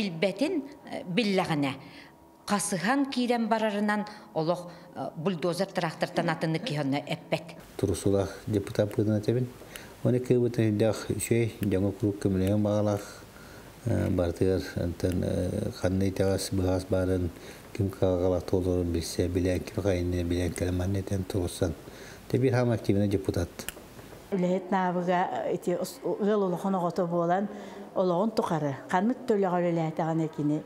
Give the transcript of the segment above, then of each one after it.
Билбэтин биллэҕинэ, хасыһан киирэн барарынан олох бульдозер трактортан атыннык киһи онно эппэт. Турусулаах депутат быһыытынан этэбин. Оны кыыбытын өйдөөх үчүгэй, дьоҥо куруук көмөлөһөн баҕалаах барытыгар онтон ханна итэҕэс быһаас баарын ким кыһалҕалаах туоларын билсэ, билэн ким хайынны билэн кэлэн манна этэн туруорсан. Те биир хаама активный депутат. Үлэһит наабыга ити ыал улахан оҕото буолан олоҕун тухары ханнык да үлэҕэ үлэлээтэҕинэ кини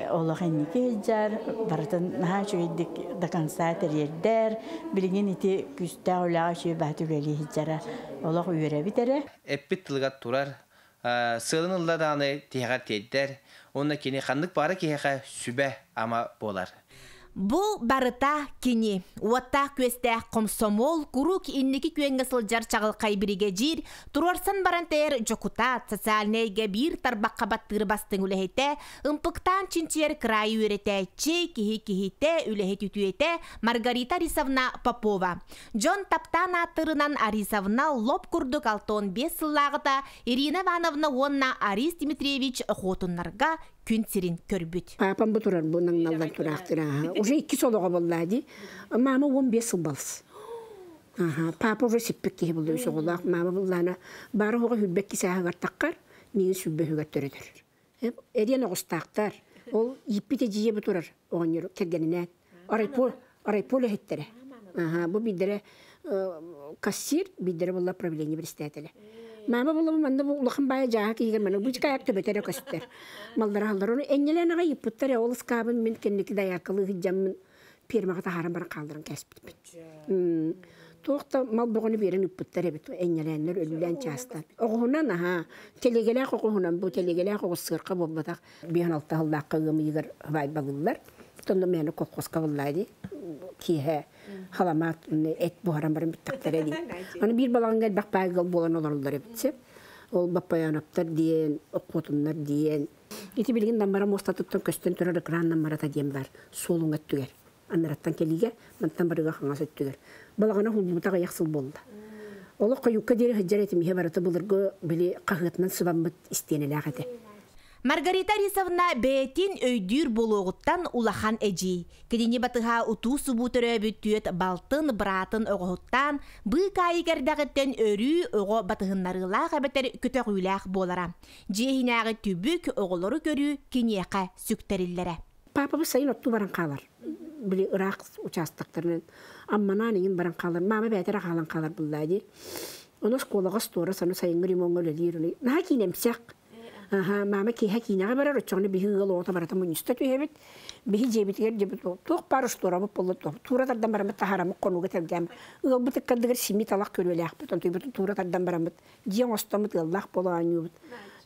олох инники сылдьар, барытын наһаа үчүгэйдик до конца тэрийэрдэр. Билигин ити күүстээх үлэҕэ үчүгэй баһа үлэлии сылдьара олох үөрэбит эрэ. Эппит тылыгар турар, сыалын ылла даҕаны тиһэҕэр тиэрдэр уонна кини ханнык баара киһиэхэ сүбэ-ама буолар. Бу барыта кини. Уоттаах-күөстээх комсомол, куруук инники күөҥҥэ сылдьар чаҕылхай биригэдьиир, туруорсан баран тэйэр дьокутаат, социальнай эйгэ биир тарбахха баттыыр бастыҥ үлэһитэ, ымпыктаан чинчийэр кыраайы үөрэтээччи, киһи киһитэ, үлэһит үтүөтэ Маргарита Арисовна Попова. Дьон таптаан ааттыырынан Арисовна лоп курдук 65 сыллааҕыта Ирина Ивановна уонна Арис Дмитриевич Охотуннарга күн сирин көрбүт. Папам бу турар бу наҥналлан тураахтыр уже икки солоҕо буоллаа дии. Мама 15 сыл балыс. Аха, папа уже сиппит киһи булду үс оҕолоох. Мама буллаана бары оҕо хүрбэт кисээһигэр таххар, миигин сүлбөһүгэр төрөтөр. Эриэн оҕустаахтар. Ол ииппит эдьиийэ бу турар оҕонньор кэргэнинээн. Райпо, райпо үлэһиттэрэ. Аха, бу биирдэрэ кассир, биирдэрэ буолла правление председателэ. Мама буолла манна бу улахан баайа дьааһа киһигэр манна бу кайак төбөтөрө көстөр. Маллара халлар ону энньэлээн аҕай ыппыттар ол ыскаабын мин кэнники дайааркалыы сылдьаммын фермаҕа таһааран баран хаалларан кээспиппит. Туох да мал бөҕөнү биэрэн ыппыттар эбит энньэлээннэр өлүүлээн чаастан. Оҕуһунан аһаа телегэлээх оҕуһунан бу телегэлээх оҕус сыарка буолбатах биһан алта сыллаахха ыам ыйыгар баайбалыыллар. Тонно мээнэ колхозка буллаа дии. Киэһэ халамаат эт буһаран баран бүттэхтэрэ дии. Аны биир балаҕаҥҥа элбэх баай ыал буолан олороллор эбит сөп. Ол Баппайаноптар диэн, Оккуотуннар диэн. Ити билигин Наммара муостатыттан көстөн турар экран Наммарата диэн бар суолуҥ өттүгэр. Анараттан кэлиигэ, мантан барыга хаҥас өттүгэр. Балаҕана хуллубута аҕыйах сыл буолла. Олох хойукка диэри сылдьар этим иһэ барыта былыргы били хаһыатынан сыбаммыт истиэнэлээх этэ. Маргарита Арисовна бэйэтин өйдүүр буолуоҕуттан улахан эдьиий. Кинини батыһа утуу-субуу төрөөбүт түөт балтын, быраатын оҕоһуттаан, быыкаайык эрдэҕиттэн өрүү оҕо батыһыннарыылаах эбэтэр көтөҕүүлээх буолара. Дьиэ иһинээҕи түбүк, оҕолору көрүү киниэхэ сүктэриллэрэ. Папабыт сайын оттуу баран хаалар. Били ыраах участоктарынан Амманаан иҥин баран хаалар. Мама бэйэтэ эрэ хаалан хаалар буллаа дии. Ону оскуолаҕа остуора саны сайыҥҥы ремоҥҥа үлэлиир. Наһаа киинэмсэх. Аха, мама киэһэ киинэҕэ барар, оччоҕуна биһи ыал оҕото барыта мунньуста түһэбит. Биһи дьиэбитигэр дьиэбит туох баар устуорабыт буолла туура тардан бараммыт таһаараммыт хонууга тэлгээн ыалбыт ыккардыгар симии талах күрүөлээхпит, онтуйбутун туура тардан бараммыт дьиэ оҥостоммут ыаллаах буола оонньуубут.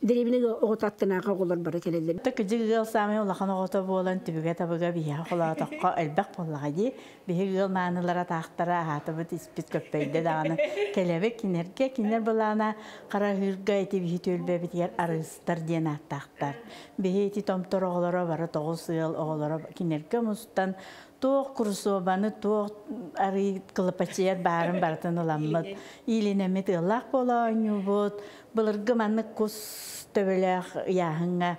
Дэриэбинэ оҕото аттынааҕы оҕолор бары кэлэллэр. Кыдьык ыал саамай улахан оҕото буолан түбүгэ-табыга биһиэхэ холоотоххо элбэх буоллаҕа дии. Биһиги ыал маанылара таахтара аһаатыбыт испит көппөйдө даҕаны кэлэбит кинилэргэ кинилэр былаана Хараһыырга ити биһи түөлбэбитигэр арыыстар диэн ааттаахтар. Биһи ити томтор оҕолоро бары тоҕус ыал оҕолоро кинилэргэ мустан туох курусуобаны туох арыы кылапачыйар баарын барытын ыламмыт иилинэммит ыаллаах буола оонньуубут. Былыргы маннык кус төбөлөөх ыйааһыҥҥа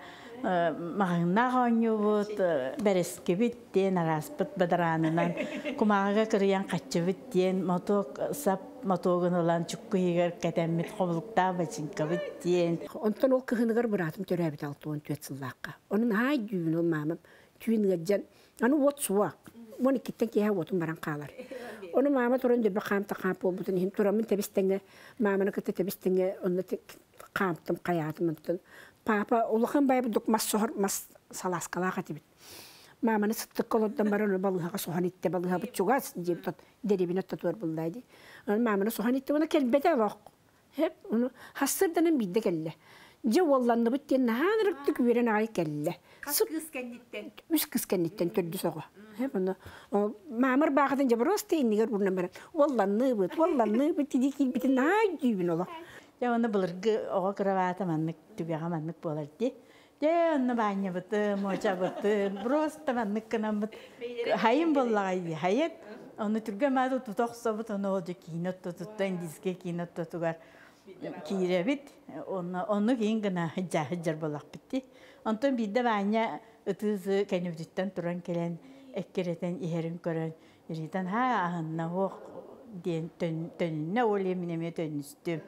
маҕаһыыннаах оонньуубут, бэрэскибит диэн арааспыт бадараанынан кумааҕыга кырыйан хаччыбыт диэн мотуок сап мотуогун ылан чукку иһигэр кэтэммит хобулуктаах бачыҥкабыт диэн. Онтон ол кыһыныгар быраатым төрөөбүтэ 64 сыллаахха. Онон наһаа өйдүүбүн ол маамам түүн ыалдьан аны уот суох. Уон иккиттэн киэһэ уотум баран хаалар. Ону маама туран дөрбө хаамта хаамп буолбутун иһин тураммын тэбис-тэҥҥэ мааманы кытта тэбис-тэҥҥэ онно хаамтым хайаатым онтон папа улахан байбыт мас соһор мас салааскалаах этибит. Мааманы сыттыкка олордон баран балыыһаҕа соһон иттэ балыыһабыт чугас диэбит дэриэбинэ оттотугар буллаа дии. Мааманы соһон иттэ уонна кэлбэтэ олох. Хэп ону хассырданан биирдэ кэллэ. Дьэ уолланныбыт диэн наһаа ынырыктык үөрэн аҕай кэллэ. Хас кыыс кэнниттэн? Үс кыыс кэнниттэн төрдүс оҕо. Хэп ону маамар баахатын дьэ просто иннигэр уурунан баран уолланныбыт, уолланныбыт дии киирбитин наһаа өйдүүбүн олох. Дьэ уонна былыргы оҕо кырабаата маннык түгэҕэ маннык буолар дии. Дьэ онно баанньабытын, муочабытын, просто маннык гынаммыт хайын буоллаҕай дии, хайын. Ону түргэн мааты тута охсобут, ону ол дьэ киинэ оттотуттан, индийскэй киинэ оттотугар. Киирэбит, онно киин гына сылдьар буоллахпыт дии. Онтон биирдэ Ваня ытыы кэннибититтэн туран кэлэн эккирэтэн иһэрин көрөн, Ритан ха аһынна уох диэн төнүннэ, ол мин эмиэ төннүстүм.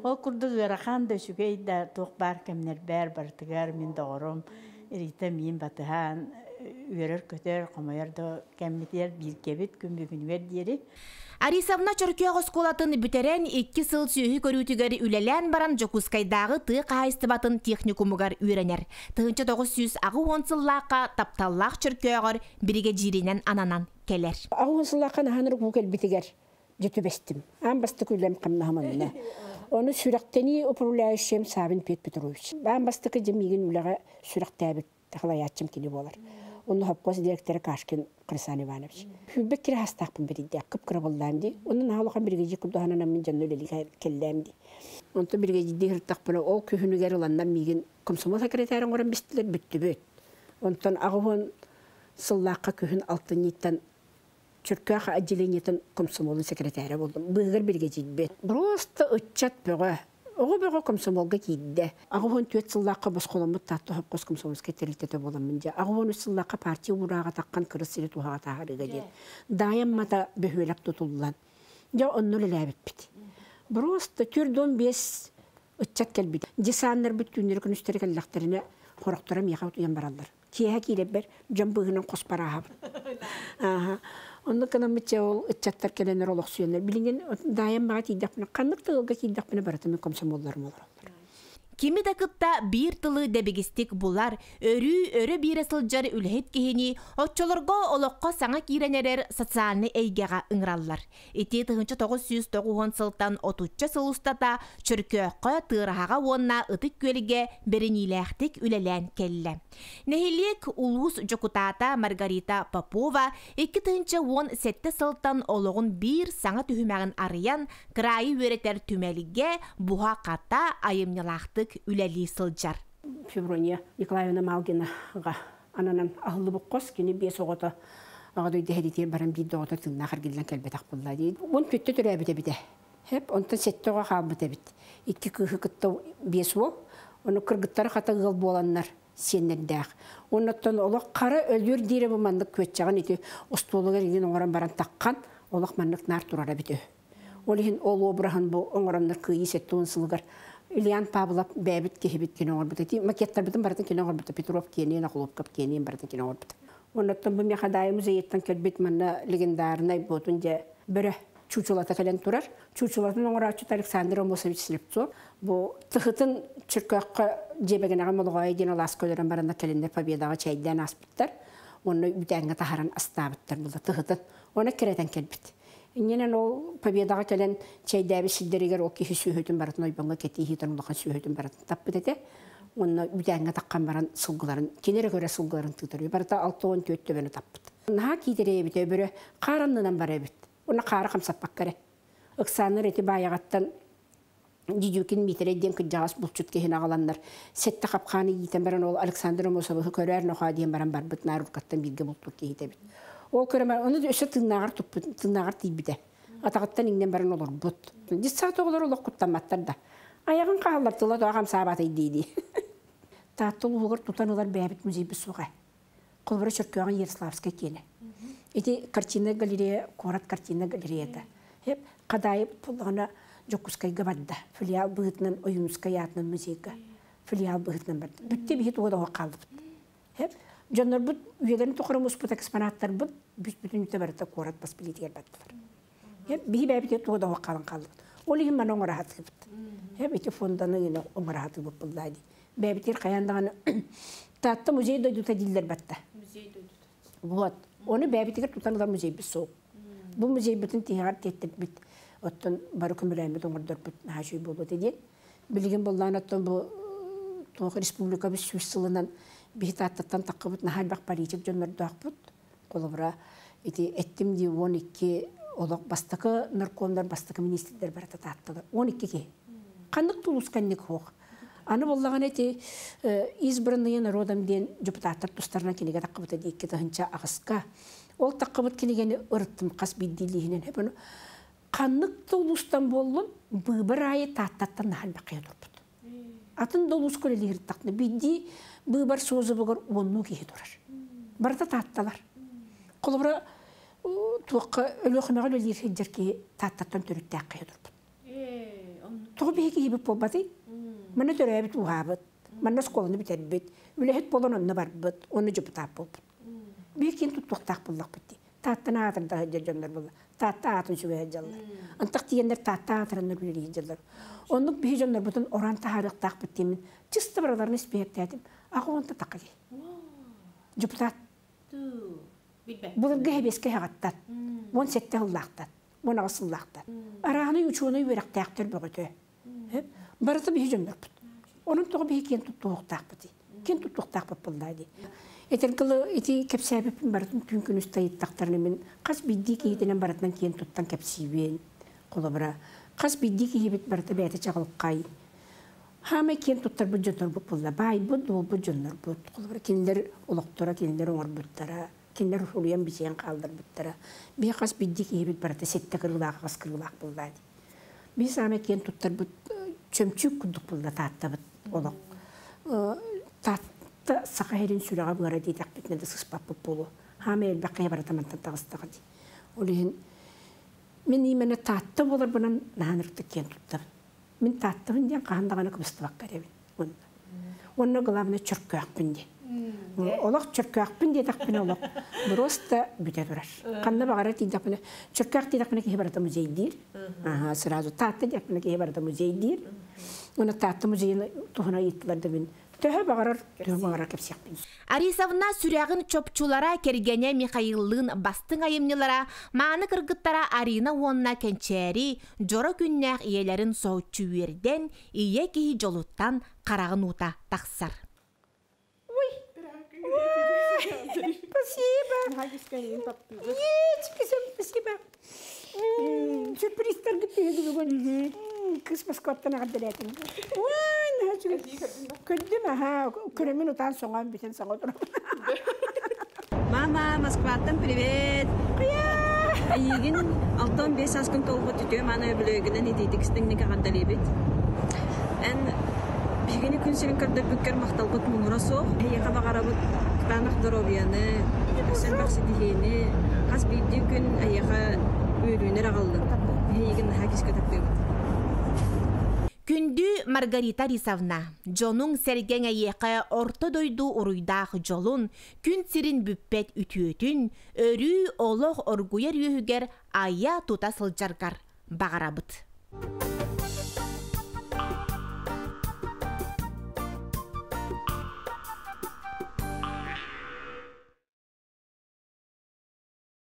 Ол курдук ыарахан да үчүгэй да туох баар кэмнэрбэр барытыгар мин доҕорум Рита миин батыһан үөрэр-көтөр, хомойор да кэммитигэр бииргэбит күн бүгүнүгэр диэри. Арисовна Чөркөөх оскуолатын бүтэрэн 2 сыл сүөһү көрүүтүгэр үлэлээн баран Дьокуускайдааҕы тыа хаһаайыстыбатын техникумугар үөрэнэр. 1980 сыллаахха тапталлаах Чөркөөҕөр биригэдьииринэн ананан кэлэр. 80 сыллаахха наһааныр бу кэлбитигэр дьэ түбэстим. Аан бастакы үлэм хамнаһым онно. Ону сүрэхтэнии управляющим Савин Петр Петрович. Аан бастакы дьэ миигин үлэҕэ сүрэхтээбит халайааччым кини буолар. Онно хоппос директора Кашкин Красан Иванович. Хүлбек кире хастаахпын биридде, кып-кыра боллаам ди. Онно наһаа биригэдьи курдуһанан мин дьонно үлэлигэ келлэм ди. Онто биригэдьи хыртахпына ол күһүнүгэр ыланнан миигин комсомол секретарын горан бистилер бүттүбүт. Онтон 80 сыллаахха күһүн алтынньыттан Чөркөөх отделениетын комсомолун секретаря болдум. Быыгар биригэдьидбит. Просто ыччат бөҕө. Оҕо бөҕө комсомолга киирдэ. 84 сыллаахха босхоломмут таатта хопкос комсомольскай тэрилтэтэ буоламмын дьэ. 83 сыллаахха партия уурааҕа таххан кырыс сири туһаҕа таһаарыыга диэн. Даайам мата бөһүөлэк тутуллан. Дьэ онно үлэлээбиппит. Просто 45 ыччат кэлбит. Десаннарбыт түүннэри күнүстэри кэллэхтэринэ хорохторо миэхэ утуйан бараллар. Киэһэ киирэрбэр дьон быыһынан хос барааһабын. Ааха. Онно кынаммытча ол ыччаттар кэлэннэр олохсуйаннар. Билигин даайам баҕа тиийдэхпинэ, ханнык да ыалга киирдэхпинэ барыта мин комсомолларым олороллор. Кими да кытта биир тылы дэбигистик булар, өрүү өрө биэрэ сылдьар үлэһит киһини оччолорго олоххо саҥа киирэн эрэр социальнай эйгэҕэ ыҥыраллар. Ити 1990 сылтан 30 сыл устата Чөркөөххө, Тыараһаҕа уонна Ытык Күөлгэ бэриниилээхтик үлэлээн кэллэ. Нэһилиэк улуус дьокутаата Маргарита Попова 2017 сылтан олоҕун биир саҥа түһүмэҕин арыйан, кыраайы үөрэтэр түмэлгэ буһа-хата айымньылаахтык үлэлии сылдьар. Феврония Николаевна Малгинаҕа ананан аһыллыбыт хос кини 5 оҕото аҕа дойду сэриитигэр баран биир да оҕото тыыннаах эргиллэн кэлбэтэх буолла дии. 14 төрөөбүт эбитэ. Хеп, онтон 7 оҕо хаалбыт эбит. 2 кыыһы кытта 5 уол. Ону кыргыттары хата ыал буоланнар сиэннэрдээх. Оннуттан олох хара өлүөр диирэ бу маннык күөччэҕин ити остуолугар иҥин оҥорон баран таххан олох маннык наар турара эбит үһү. Ол иһин ол обраһын бу оҥороннор кыайыы 70 сылыгар Ильян Павлов бэйэбит киһибит кини оҥорбута. Ити макеттарбытын барытын кини оҥорбута. Петров киэниин, Охлопков киэниин барытын кини оҥорбута. Оннуттан бу Мехадай музейыттан кэлбит манна легендарнай буотун дьэ бөрө чуучулата кэлэн турар. Чуучулатын оҥорооччута Александр Амосович Слепцов. Бу тыһытын Чөркөөххө дьиэбэгэнэҕэ Молоҕоойо диэн алаас көлөрөн баранна кэлиннэр Победаҕа чэйдээн ааспыттар. Онно үтээҥҥэ таһаран астаабыттар була тыһытын. Оны кирэтэн кэлбит. Иннинэн ол Победаҕа кэлэн чэйдээбит сирдэригэр ол киһи сүөһүтүн барытын ойбоҥҥо кэтии улахан сүөһүтүн барытын таппыт этэ. Онно үтээҥҥэ таххан баран сылгыларын, киниэрэ көрө сылгыларын тыытар. Барыта 64 төбөнү таппыт. Наһаа киитэрэйэбит өбөрө хаараннынан бар эбит. Онно хаара хамсаппаккаре. Ыксааннар эти баайаҕаттан Дидюкин Митерей диэн кыдьаҕас булчут киһини аҕаланнар сэтте хапхааны иитэн баран ол Александр Амосовы көрөөр нохоо диэн баран барбыт нааруккаттан бииргэ булпут киһитэбит. Ол көрөмөр ону өссө тыыннааҕар туппут, тыыннааҕар тиийбитэ. Атаҕыттан иҥнэн баран олорбут. Детсад оҕолор олох куттамматтар да. Айаҕын хааллар тыла тоҕо хамсаабатай дии-дии. Таатта улууһугар тутан ылар бэйэбит музейбит суоҕа. Холобура Чөркөөҕүн Ярославскай киэнэ. Ити картина галерея, куорат картина галереята. Хеп Хадаайы буоллаҕына Дьокуускайга барда. Филиал быһыытынан Ойуунускай аатынан музейга филиал быһыытынан барда. Бүттэ биһи туга да хаалбыт. Хеп дьоннорбут үйэлэрин тухары муспут экспонаттарбыт бүтүн барыта куорат бас билиитигэр бардылар. Хеп биһи бэйэбит туга да хаалан хаалбыт. Ол иһин маны оҥораһатыбыт. Хеп ити фонданы гына оҥораһатыбыт буллаа дии. Бэйэбитигэр хайаан даҕаны Таатта музей дойдута дииллэр батта. Музей дойдута. Вот. Оны бэйэбитигэр тутан ылар музейбит суох. Бу музейбитин тиһэҕэр тиэттэрбит. Оттон бары көмөлөөммүт оҥордорбут наһаа үчүгэй буолуо этэ диэн. Билигин буоллаан оттон бу туох республикабыт 100 сылынан биһи Тааттаттан таххыбыт наһаа элбэх политик дьоннордоохпут. Холобура ити эттим дии 12 олох бастакы наркомнар, бастакы министрдэр барыта Таатталар. 12 киһи. Ханнык тулусканник суох. Аны буоллаҕына ити избранные народом диэн депутаттар тустарынан кинигэ таххыбыта дии 2008-ка. Ол таххыбыт кинигэни ырыттым хас биирдиилииһинэн. Хеп ону Ханнык да улуустан буоллун, быыбар аайы Тааттаттан наһаа элбэх киһи турбут. Атын да улууска үлэлиир биирдии быыбар созывыгар уоннуу киһи турар. Барыта таатталар. Холобура, туохха Өлүөхүмэҕэ үлэлиир сылдьар киһи Тааттаттан төрүттээх киһи турбут. Тоҕо биһиги киһибит буолбатый? Манна төрөөбүт ууһаабыт, манна оскуоланы бүтэрбит, үлэһит буолан онно барбыт, онно дьокутаат буолбут. Биир киин туттуохтаах буоллахпыт дии. Тааттан аатырда сылдьар дьоннор буолла. Таатта аатын сүгэ сылдьаллар. Антах тиийэннэр Таатта аатыраннар үлэлии сылдьаллар. Оннук биһи дьоннорбутун орон таһаарыахтаахпыт диэммин чисто барыларын испиэһэктээтим. Аҕа уонта тақа киһи. Депутат. Былыргы хэбиэскэ хаҕаттан. 17 сыллаахтан. 18 сыллаахтан. Арааһынай учуонай үөрэхтээхтэр бөҕөтө. Барыта биһи дьоннорбут. Онон тоҕо биһи киэн туттуохтаахпытый? Киэн туттуохтаахпыт буоллаа дии. Этэргылы ити кэпсээбиппин барытын түүн күнүс тайыттахтарына мин хас биирдии киһитинэн барытынан киэн туттан кэпсиибин. Холобура, хас биирдии киһибит барыта бэйэтэ чаҕылхай. Хаамай киэн туттарбыт дьоннорбут буолла. Баайбыт, дуолбут дьоннорбут. Холобура, кинилэр олохторо, кинилэр оҥорбуттара, кинилэр уруйан бичийэн хаалларбыттара. Биһи хас биирдии киһибит барыта сэттэ кырыылаах, аҕыс кырыылаах буоллаа дии. Биһи саамай киэн туттарбыт чөмчүүк курдук буолла Тааттабыт олох. Таатта саха сирин сүрэҕэ быара диэтэхпитинэ да сыспаппыт буолуо. Хаамай элбэх киһи барыта мантан таҕыстаҕа дии. Ол иһин мин именно Таатта буоларбынан наһаа ырытык киэн туттабын. Мин Тааттабын диэн хаһан даҕаны кыбыстыбакка эрэбин. Уонна главное чөркөөхпүн диэн. Олох чөркөөхпүн диэтэхпинэ олох просто бүтэ турар. Ханна баҕарар тиийдэхпинэ чөркөөх диэтэхпинэ киһи барыта музей диир. Ага, сразу Таатта диэтэхпинэ киһи барыта музей диир. Уонна Таатта музейын туһунан ыйыттылар да мин төһө баҕарар, төһө баҕарар кэпсиэхпин. Арисовна сүрэҕин чопчулара кэргэнэ Михаиллыын бастыҥ айымньылара, мааны кыргыттара Арина уонна Кэнчээри дьоро күннээх ийэлэрин соһуччу үөрдэн, ийэ киһи дьолуттан хараҕын уута тахсар. Ой, спасибо. Спасибо. Сюрпризтаргыт бүгүн. Кыс Москваттан аҕардарэтим. Көрдүм, аха, көрөмүн утаан соҥоон бүтэн саҥа отырам. Мама, Москваттан привет! Эйигин 65 сааскын толбут үтүө мааны өбүлүөйгүнэн итиитик истиҥник эҕэрдэлиибит. Эн биһигини күн сирин көрдөрбүккэр махталбыт муҥура суох. Эһиэхэ баҕарабыт кытаанах доруобуйаны, өссө элбэх ситиһиини, хас биирдии күн эйиэхэ үөрүүнү эрэ аҕаллын. Эйигин наһаа күүскэ таптыыбыт. Күндү Маргарита Рисовна, дьонуҥ-сэргэҥ эйиэхэ орто дойду уруйдаах дьолун, күн сирин бүппэт үтүөтүн, өрүү олох оргуйар үөһүгэр айа тута сылдьаргар баҕарабыт.